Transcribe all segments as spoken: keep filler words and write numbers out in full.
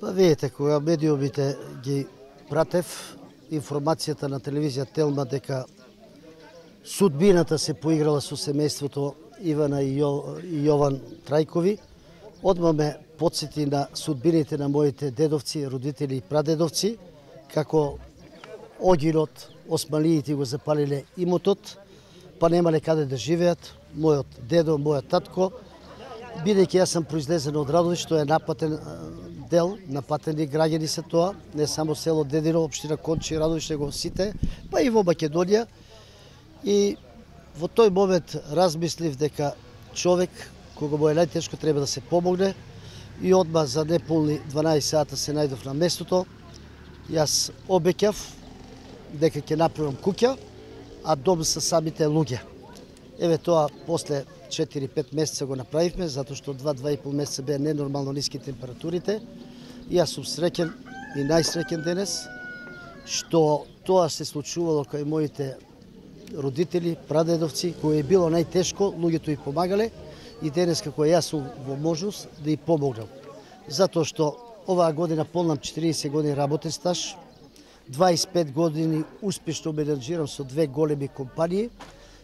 Па видите, кога медиумите ги пратев, информацијата на телевизија Телма дека судбината се поиграла со семејството Ивана и Јован Трајкови, одма ме потсети на судбините на моите дедовци, родители и прадедовци, како огинот, османлиите го запалиле имотот, па немале каде да живеат. Мојот дедо, мојот татко, бидејќи јас сум произлезен од Радовиш, што е напатен дел, напатени граѓани се тоа, не само село Дедино, општина Кончи, Радовиш, него сите, па и во Македонија. И во тој момент размислив дека човек, кога му е најтешко, треба да се помогне, и одма за неполни дванаесет сата се најдов на местото. Јас обеќав дека ќе направам куќа, а дом со самите луѓе. Еве тоа после четири-пет месеца го направивме, затоа што два-два и пол месеца беа ненормално ниски температурите. И јас сум среќен и најсреќен денес што тоа се случувало кај моите родители, прадедовци, кои е било најтешко, луѓето и помагале, и денес како јас сум во можност да и помогнам. Затоа што оваа година полнам четириесет години работен стаж, дваесет и пет години успешно менеджирам со две големи компании.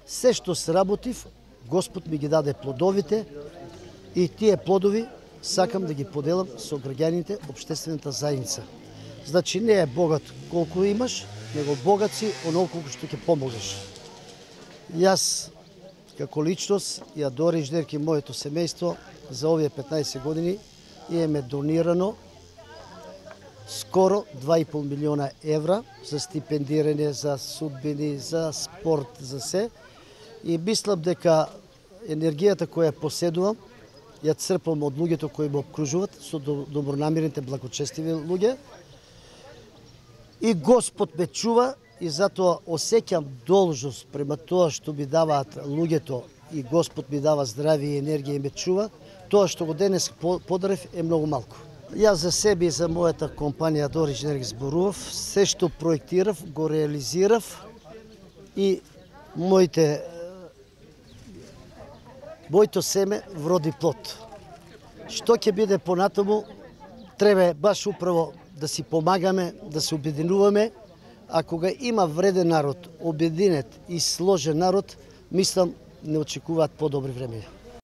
Се што сработив, Господ ми ги даде плодовите, и тие плодови сакам да ги поделам со граѓаните, општествената заедница. Значи не е богат колку имаш, него богат си онолку што ќе помогнеш. Јас како личност и Адора Инженерки, моето семејство, за овие петнаесет години имаме донирано скоро два и пол милиона евра за стипендирање, за судбини, за спорт, за се. И мислам дека енергијата која поседувам, ја црпам од луѓето кои ме обкружуваат, со добронамерните, благочестиви луѓе. И Господ ме чува, и затоа осеќам должност према тоа што ми даваат луѓето, и Господ ми дава здравје и енергија и ме чува. Тоа што го денес подарив е многу малку. Јас за себе и за мојата компанија Адора Инженерки зборував, се што проектирав, го реализирав, и моите моето семе вроди плод. Што ќе биде понатаму, треба баш управо да си помагаме, да се обединуваме, а кога има вреден народ, обединет и сложен народ, мислам, не очекуваат подобри времења.